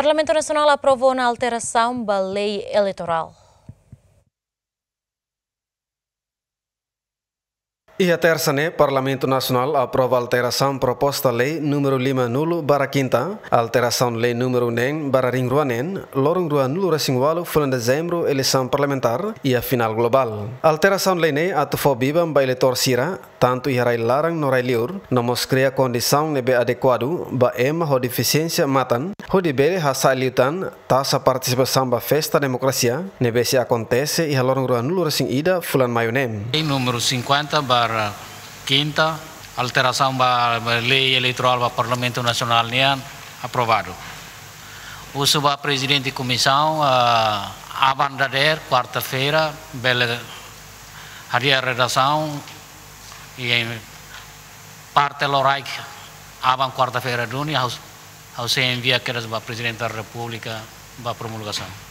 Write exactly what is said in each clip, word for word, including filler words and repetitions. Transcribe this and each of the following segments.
Parlamentu Nasionál aprova ona alterasaun ba lei eleitorál. Iha tersa ne'e, Parlamentu Nasionál aprova alterasaun proposta lei númeru lima nulu barra kinta, alterasaun lei númeru neen barra rihun rua neen, loron rua nulu resin ualu fulan Dezembru, eleisaun parlamentár iha final globál. Alterasaun lei ne'e atu fó biban ba eleitór sira, tantu iha rai laran no rai liur, no mós kria kondisaun ne'ebé adekuadu ba ema ho defisiénsia matan, hodi bele hasa'e liután taxa partisipasaun ba festa demokrasia ne'ebé sei akontese iha loron rua nulu resin ida fulan Maiu ne'e. Lei númeru cinquenta barra kinta, alterasaun ba, ba lei eleitorál ba Parlamentu Nasionál nian, aprovadu. Husu ba Prezidente Komisaun, ah, aban dadeer, kuarta-feira, bele hadi'a redasaun, i parte lokraik aban kuarta-feira duni, ha'u, ha'u sei envia kedas ba Prezidente da Repúblika ba promulgasaun.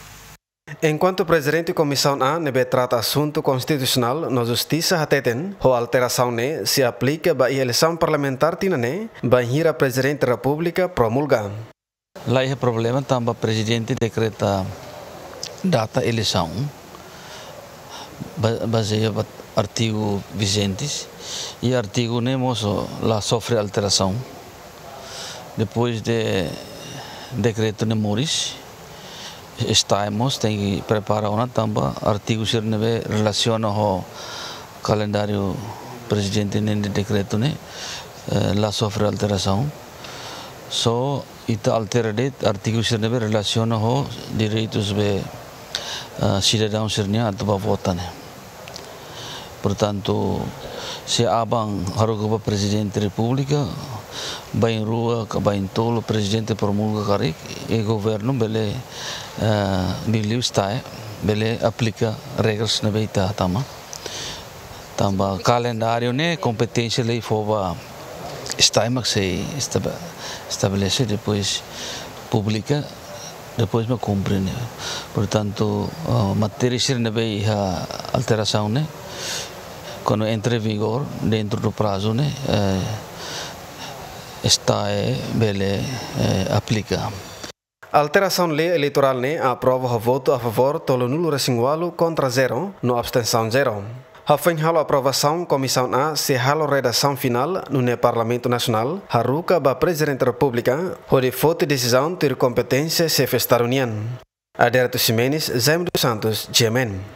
Enkuantu Prezidente Komisaun A ne'ebé trata asuntu konstitusionál no justisa hateten, ho alterasaun ne'e sei aplika ba iha eleisaun parlamentár tinan ne'e, bainhira Prezidente Repúblika promulga. La iha problema tanba Prezidente dekreta data eleisaun, ba-, bazeia ba artigu vijente, i artigu ne'e mós la sofre alterasaun. Depois de dekretu ne'e moris, STAE mós tenke prepara ona tanba artigu sira ne'ebé relasiona ho kalendáriu Prezidente nian dekretu ne'e, eh, la sofre alterasaun. Só ita altera de'it artigu sira ne'ebé relasiona ho direitus be, ah, sidadaun sira-nian atu bá vota ne'e. Portantu, se aban haruka ba Prezidente Repúblika, bainrua ka baintolu Prezidente promulga karik, i governu bele, ah, liuliu STAE, bele aplika regras ne'ebé ita tama. Tanba kalendáriu ne'e kompeténsia lei fó ba STAE mak sei estaba-, estabelese, depois publika, depois mak kumpre ne'e. Portantu, ah, matéria sira ne'ebé iha alterasaun ne'e, kuandu entra vigor dentro do prazo ne'e, eh, STAE bele, eh, aplika. Alterasaun lei eleitorál ne'e aprova ho votu a favór tolunulu resin ualu, kontra zero, no abstensaun zero. Hafoin halo aprovasaun, Komisaun A sei halo redasaun finál, nune'e Parlamentu Nasionál haruka ba Prezidente Repúblika, hodi foti desizaun tuir kompeténsia Xefe Estadu nian. Adérito Ximenes, Jaime dos Santos, G M N.